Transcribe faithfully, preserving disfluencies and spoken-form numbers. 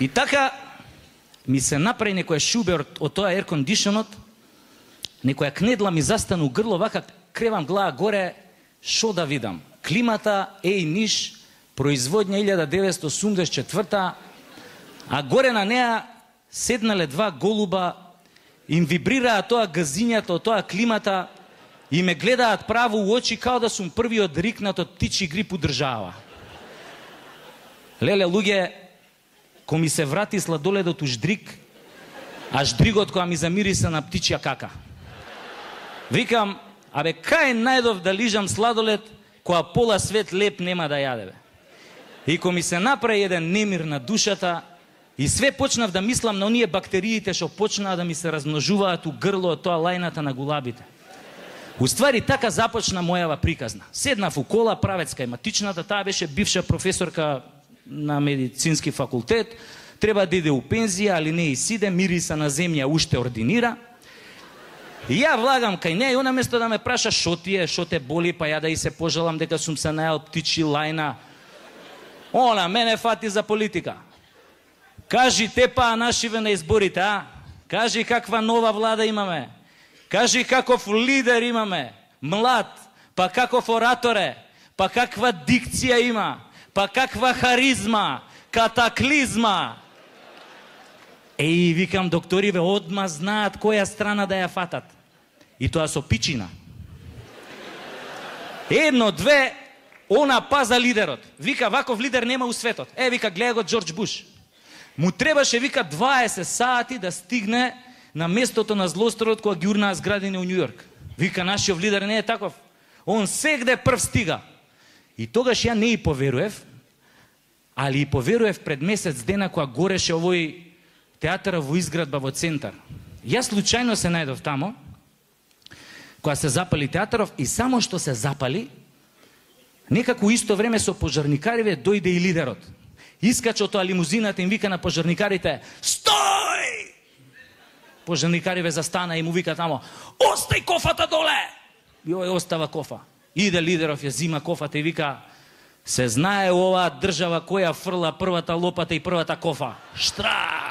И така ми се направи некоја шубе од тоа air conditionот, некоја кнедла ми застана у грло, вака кревам глава горе, шо да видам? Климата, еј Ниш, производња илјада деветстотини осумдесет и четврта, а горе на неа седнале два голуба, им вибрираа тоа газињата од тоа климата и ме гледаат право у очи као да сум првиот рикнат од птичи грип у држава. Леле, луѓе, ко ми се врати сладоледот у ждрик, а ждригот која ми замириса на птичја кака. Викам, абе, кај најдов да лижам сладолед, која пола свет леп нема да јаде, бе. И ко ми се направи еден немир на душата, и све почнав да мислам на оние бактериите што почнаа да ми се размножуваат у грло од тоа лајната на гулабите. Уствари, така започна мојава приказна. Седнав у кола, правец кај матичната, таа беше бивша професорка на медицински факултет, треба да иде у пензија, али не и сиде, мириса на земја уште ординира. И ја влагам кај неја и она место да ме праша шо ти е, шо те боли, па ја да и се пожалам дека сум се најал птичи лајна. Она мене фати за политика. Кажи те па нашиве на изборите, а? Кажи каква нова влада имаме. Кажи каков лидер имаме. Млад, па каков оратор е, па каква дикција има, па каква харизма, катаклизма. Еј, викам, докториве одма знаат која страна да ја фатат. И тоа со пичина. Едно, две, она паза лидерот. Вика, ваков лидер нема у светот. Е, вика, гледа го Џорџ Буш. Му требаше, вика, дваесет сати да стигне на местото на злосторот која ги урнаа зградени у Њујорк. Вика, нашиот лидер не е таков. Он сегде прв стига. И тогаш ја не и поверуев, али и поверуев пред месец дена која гореше овој театар во изградба во центар. Јас случајно се најдов тамо, која се запали театаров, и само што се запали, некако исто време со пожарникариве дојде и лидерот. Искача од тоа лимузината, им вика на пожарникарите: "Стој!" Пожарникариве застана и му вика тамо: "Остај кофата доле!" И овој остава кофа. Иде лидеров, ја зима кофата и вика: "Се знае оваа држава која фрла првата лопата и првата кофа. Штрак!"